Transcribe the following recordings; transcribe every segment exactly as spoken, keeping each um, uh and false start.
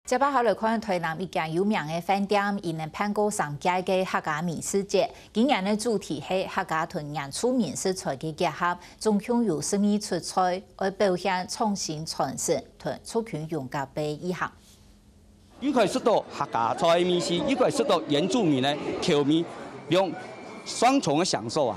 接下來看台南一間有名个飯店，佢等辦過三屆个客家美食節。今年个主題係客家同原住民食材个結合，總共有十二出菜，愛表現創新傳承同族群融合个意涵。又可以食到客家菜个味緒，又可以食到原住民个口味，用雙重个享受啊！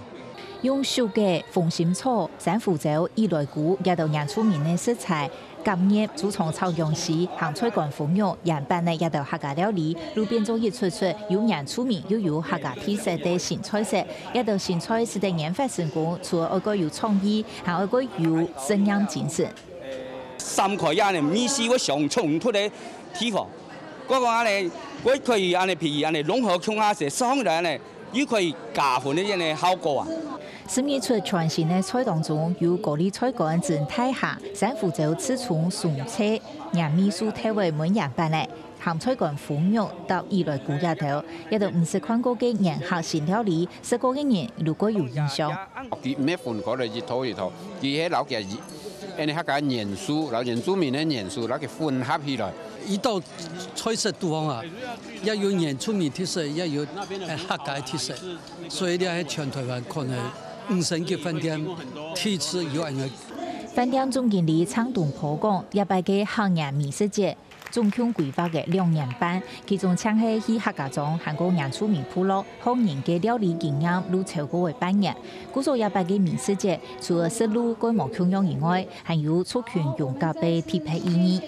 用手个紅心草、山芋燥、伊萊菇，這兜原住民个食材， 夾入豬腸炒薑絲、鹹菜乾封肉、鹽粄个這兜客家料理，就變做一出出有原住民又有客家特色个新菜色。這兜新菜使得研發成功，除了愛過有創意，還愛過有實驗精神。三塊啊，呢味緒會相衝突个地方，我講恁呢，我可以恁呢，譬如恁呢融合共下食，食起來恁呢，又可以加分个恁呢效果啊。 十二出全新个菜當中，有高麗菜乾蒸大蝦、山芋燥刺蔥、松脆、鹽味素豆仔燜鹽粄仔、鹹菜乾封肉搭伊萊菇這兜，這兜毋識看過个原客新料理，食過个人就過有印象。佢毋係分開來一套一套，佢係摎佢，恁呢客家元素，摎原住民个元素，摎佢混合起來。一道菜色都好啊，也有原住民特色，也有，呃，客家特色。 所以這係全台灣可能五星級飯店第一次有恁樣。飯店總經理鄭東坡講，這擺个客源美食節總共規劃个兩年半，其中淨係去客家庄還過原住民部落，學人个料理經驗就超過會半年。故所這擺个美食節，除了食路過無共樣以外，還有族群融合个特別意義。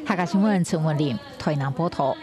客家新聞陳文林，台南報導。